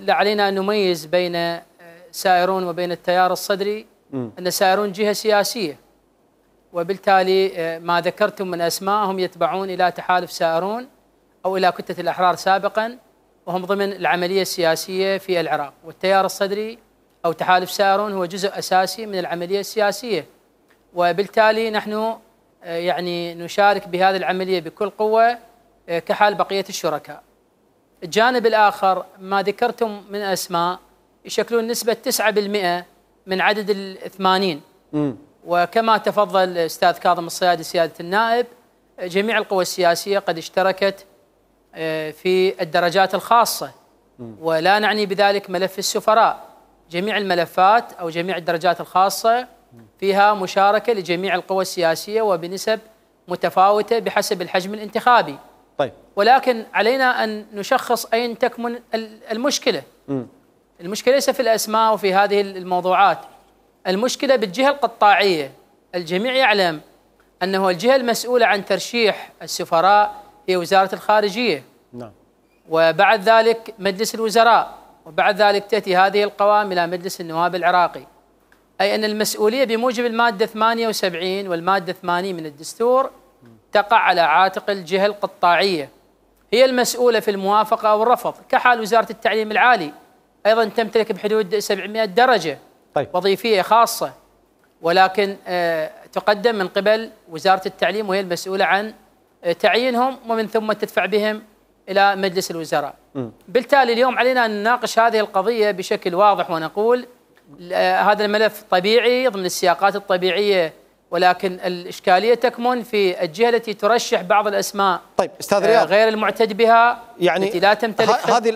علينا أن نميز بين سائرون وبين التيار الصدري. أن سائرون جهة سياسية، وبالتالي ما ذكرتم من أسماء هم يتبعون إلى تحالف سائرون أو إلى كتلة الأحرار سابقا، وهم ضمن العملية السياسية في العراق. والتيار الصدري أو تحالف سائرون هو جزء أساسي من العملية السياسية، وبالتالي نحن يعني نشارك بهذه العملية بكل قوة كحال بقية الشركاء. الجانب الآخر ما ذكرتم من أسماء يشكلون نسبة 9% من عدد ال80. وكما تفضل الأستاذ كاظم الصيادي سيادة النائب، جميع القوى السياسية قد اشتركت في الدرجات الخاصة، ولا نعني بذلك ملف السفراء. جميع الملفات أو جميع الدرجات الخاصة فيها مشاركة لجميع القوى السياسية وبنسب متفاوتة بحسب الحجم الانتخابي. طيب، ولكن علينا أن نشخص أين تكمن المشكلة. المشكلة ليس في الأسماء وفي هذه الموضوعات، المشكلة بالجهة القطاعية. الجميع يعلم أنه الجهة المسؤولة عن ترشيح السفراء هي وزارة الخارجية. نعم. وبعد ذلك مجلس الوزراء، وبعد ذلك تأتي هذه القوائم إلى مجلس النواب العراقي. أي أن المسؤولية بموجب المادة 78 والمادة 80 من الدستور تقع على عاتق الجهة القطاعية، هي المسؤولة في الموافقة أو الرفض، كحال وزارة التعليم العالي أيضا تمتلك بحدود 700 درجة وظيفية خاصة، ولكن تقدم من قبل وزارة التعليم وهي المسؤولة عن تعيينهم، ومن ثم تدفع بهم إلى مجلس الوزراء. بالتالي اليوم علينا أن نناقش هذه القضية بشكل واضح ونقول هذا الملف طبيعي ضمن السياقات الطبيعية، ولكن الإشكالية تكمن في الجهة التي ترشح بعض الأسماء. طيب أستاذ رياض، غير المعتد بها، يعني التي لا تمتلك هذه